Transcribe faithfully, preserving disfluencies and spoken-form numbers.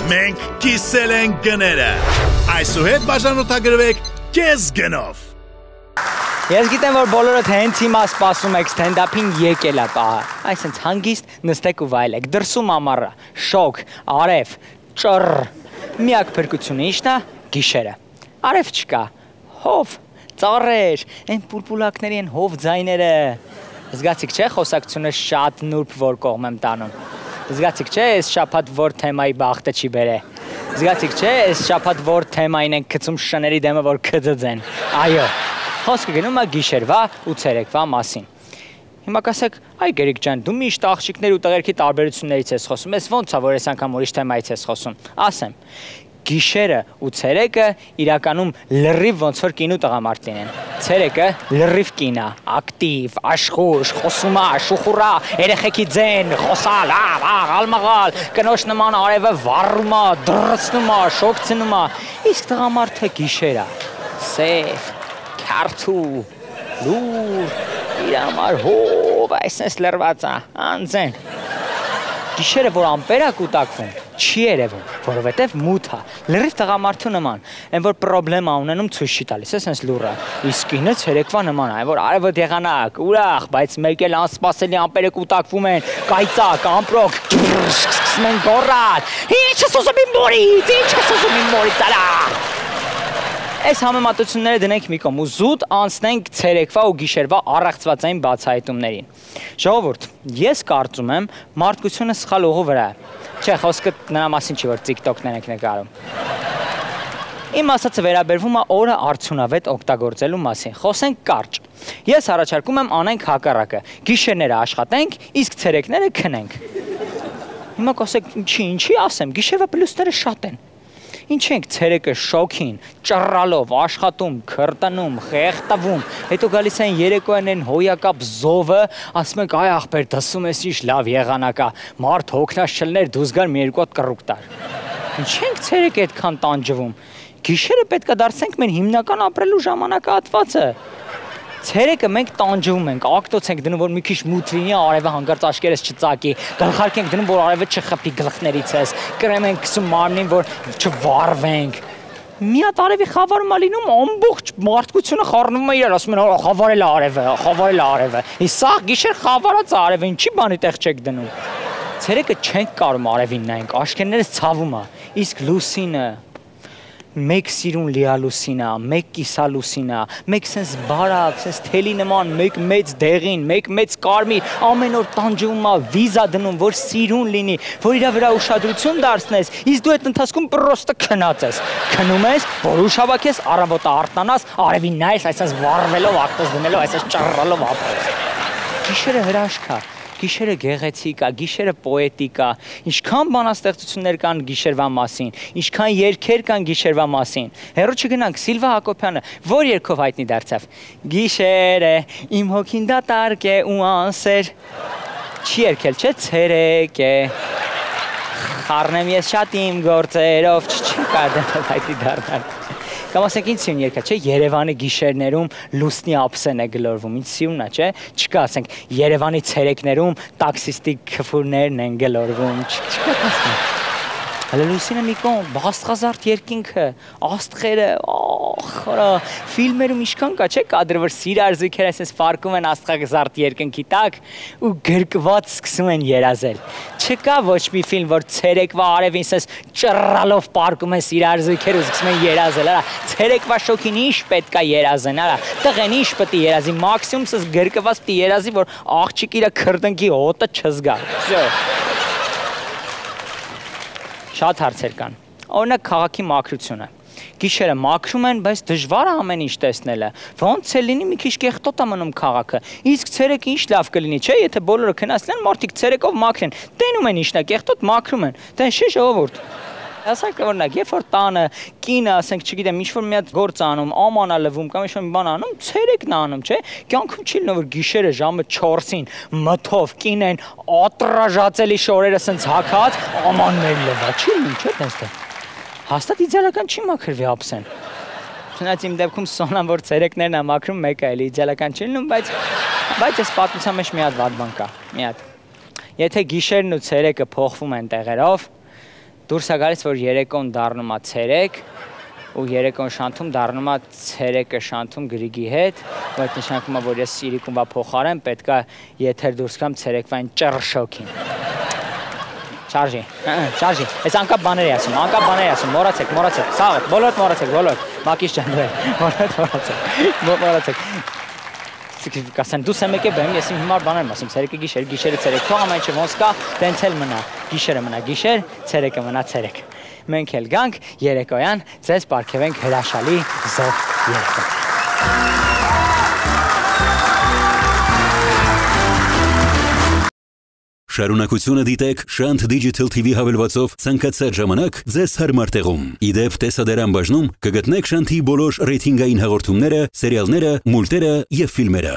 Մենք կիսել ենք գները։ Այսուհետ բաժանորդագրվեք կես գնով։ Ես գիտեմ, որ բոլորդ հենց հիմա սպասում եք ստենդափին եկել ա պահը։ Այսինքն հանգիստ նստեք ու վայելեք։ Դրսում ամառը, շոգ, արև, ճռ։ Միակ փրկությունը ի՞նչն է։ Գիշերը։ Արև չկա։ Հով, ծառեր, այն պուլպուլակների են հով ձայները։ Զգացիք չէ, խոսակցությունը շատ նուրբ որ կողմ եմ տանում։ Զգացիք չէ, այս շաբաթ որ թեմայի բախտը չի բերե։ Զգացիք չէ, այս շաբաթ որ թեմային են գցում շների դեմը որ կձծեն։ Այո։ Խոսքը գնում է գիշերվա ու ցերեկվա մասին։ Հիմա կասեք, այ Գերիկ ջան, դու միշտ աղջիկներ ու տղերքի տարբերություններից ես խոսում, ես ո՞նց է, որ այս անգամ ուրիշ թեմայից ես խոսում։ Ասեմ, գիշերը ու ցերեկը իրականում լրիվ ոնց որ կին ու տղամարդին են։ Ցերեկը լրիվ կին է, ակտիվ, աշխուժ, խոսում է, շուխուռա, երեխեքի ձեն, խոսալ, աղալմաղալ, կնոջ նման արևը վառում է, դրսնում է, շոգցնում է։ Իսկ տղամարդը գիշեր է, սև, քարթու, լուր, իր համար հով, այսպես լրված է, անձեն։ Գիշերը, որ ամպեր է կուտակվում, չի երևում, որովհետև մութ է, լրիվ տղամարդու նման, այն որ պրոբլեմա ունենում ցույց չի տալիս, այսպես լուռը, իսկ ինը ցերեկվա նման է, այն որ արևը եղանակ, ուրախ, բայց մեկ էլ անսպասելի ամպերը կուտակվում են, կայծակ, ամպրոկ, սկսում են գոռալ, ինչ ես ուզում իմ մորից, ինչ ես ուզում իմ մորից, արա։ Այս համեմատությունները դնենք մի կողմ ու զուտ անցնենք ցերեկվա ու գիշերվա առեղծվածային բացահայտումներին։ Ժողովուրդ, ես կարծում եմ մարդկությունը սխալ ուղու վրա է։ Չէ, խոսքը նրա մասին չի, որ TikTok-ներ ենք նկարում։ Իմ ասածը վերաբերվում է օրը արդյունավետ օգտագործելու մասին։ Խոսենք կարճ։ Ես առաջարկում եմ անենք հակառակը։ Գիշերները աշխատենք, իսկ ցերեկները քնենք։ Հիմա կասեք, ինչի, ինչի ասեմ, գիշերվա պլյուսները շատ են։ Ինչ ենք ցերեկը շոքին, ճռռալով, աշխատում, քրտնում, խեղտվում, հետո գալիս են երեկոյան են հոյակապ զովը, ասում ենք այ ախպեր, դասում ես ինչ լավ եղանակ է, մարդ հոգնած չլներ դուրս գար մի երկու հատ կռուկ տար։ Ինչ ենք ցերեկը այդքան տանջվում։ Գիշերը պետք է դարձնենք մեր հիմնական ապրելու ժամանակահատվածը։ Ցերեկը մենք տանջվում ենք, ակտոց ենք դնում, որ մի քիչ մութ լինի, արևը հանկարծ աչքերս չծակի, գլխարկ ենք դնում, որ արևը չխփի գլխներից ես, կրեմ ենք քսում մարմնին, որ չվառվենք։ Մի հատ արևի խավարում է լինում, ամբողջ մարդկությունը խառնվում է իրար, ասում են, խավարել է արևը, խավարել է արևը։ Իսկ սա գիշեր խավարած է արևը, ինչի բանի տեղ չեք դնում։ Ցերեկը չենք կարում արևին նայենք, աչքերներս ցավում է, իսկ լուսինը մեկ սիրուն լիալուսին է, մեկ կիսալուսին է, մեկ սենց բարակ, սենց թելի նման, մեկ մեծ դեղին, մեկ մեծ կարմիր, ամեն օր տանջվում է, վիզա դնում, որ սիրուն լինի, որ իրա վրա ուշադրություն դարձնես, իսկ դու այդ ընթացքում պրոստը քնած ես, քնում ես, որ ուշ հավաքես, առավոտը արթնանաս, արևին նայես, այսպես վառվելով, ակտոց դնելով, այսպես ճռռալով ապրես։ Գիշերը հրաշք է։ Գիշերը գեղեցիկ է, գիշերը պոետիկ է, ինչքան բանաստեղծություններ կան գիշերվա մասին, ինչքան երգեր կան գիշերվա մասին։ Հեռու չգնանք, Սիլվա Հակոբյանը որ երգով հայտնի դարձավ։ Գիշերը իմ հոգին դատարկ է ու անսեր։ Չի երգել, չէ՞, ցերեկ է։ Խառնեմ ես շատ իմ գործերով, չի կարդալ հայտնի դառնալ։ Կամ ասենք ինչ սիրուն երգ է, չէ, Երևանի գիշերներում լուսնի ափսեն է գլորվում, ինչ սիրուն է, չէ, չկա, ասենք Երևանի ցերեկներում տաքսիստի քֆուրներն են գլորվում, չկա ասենք։ Հələ լուսինը մի կողմ, բաստղազարդ երկինքը, աստղերը, ախ, ֆիլմերում ինչքան կա, չէ, կադրը, որ սիրար զույգեր այսպես ֆարկում են աստղազարդ երկնքի տակ ու գրկված սկսում են երազել։ Չկա ոչ մի ֆիլմ, որ ցերեկվա արևին ասես ճռռալով պարկում են սիրար զույգեր ու սկսում են երազել, արա, ցերեկվա շոքին ինչ պետք է երազեն, արա, տղեն ինչ պետք է երազի, մաքսիմում ասես գրկված պետք է երազի, որ աղջիկը իր քրտնքի հոտը չզգա։ Շատ հարցեր կան։ Օրինակ քաղաքի մաքրությունը։ Գիշերը մաքրում են, բայց դժվար է ամեն ինչ տեսնելը։ Ոնց է լինի մի քիչ կեղտոտ է մնում քաղաքը։ Իսկ ցերեկը ինչ լավ կլինի, չէ՞, եթե բոլորը քնածնեն, մարդիկ ցերեկով մաքրեն։ Տենում են ինչն է, կեղտոտ մաքրում են։ Դա չէ՞ ժողովուրդ։ Ասենք օրինակ, երբ որ տանը կինը, ասենք, չգիտեմ, ինչ-որ մի հատ գործ անում, աման է լվում կամ ինչ-որ մի բան անում, ցերեկն է անում, չէ՞։ Կյանքում չի լինում, որ գիշերը ժամը չորսին մթով կինեն ատրաժացելի շորերը սենց հագած, ամաններ լվա, չի լինում, չէ՞ տես։ Հաստատ իդեալական չի մաքրվի ափսեն։ Չնայած իմ դեպքում Սոնան, որ ցերեկներն է մաքրում, մեկը էլի իդեալական չի լինում, բայց բայց այս պատմության մեջ մի հատ վատ բան կա, մի հատ։ Եթե գիշերն ու ցերեկը փոխվում են տեղերով, դուրս է գալիս, որ երեկոն դառնում է ցերեկ, ու երեկոն շանթում դառնում է ցերեկը շանթում Գրիգի հետ, ու այդ նշանակում է, որ ես իրիկումվա փոխարեն պետք է եթեր դուրս գամ ցերեկվային ճռ շոքին։ Շարժի, շարժի, այս անկապ բաներ է ասում, անկապ բաներ է ասում, մոռացեք, մոռացեք, սաղդ, բոլորդ մոռացեք, բոլորդ, Մակիս ջան, բոլորդ մոռացեք, մոռացեք։ Կասեն դու սեմ եկե բեմ, ես իմ հիմար բաներ եմ ասում, ցերեկը գիշեր, գիշերը ցերեկ, թող ամեն ինչը ոնց կա, տենց էլ մնա, գիշերը մնա գիշեր, ցերեկը մնա ցերեկ։ Մենք էլ գանք երեկոյան, ձեզ պարգևենք հրաշալի զով երեկո։ Շարունակությունը դիտեք Շանթ Digital T V հավելվածով ցանկացած ժամանակ ձեզ հարմար տեղում։ Իդեպ տեսադարան բաժնում կգտնեք Շանթի բոլոր ռեյթինգային հաղորդումները, սերիալները, մուլտերը եւ ֆիլմերը։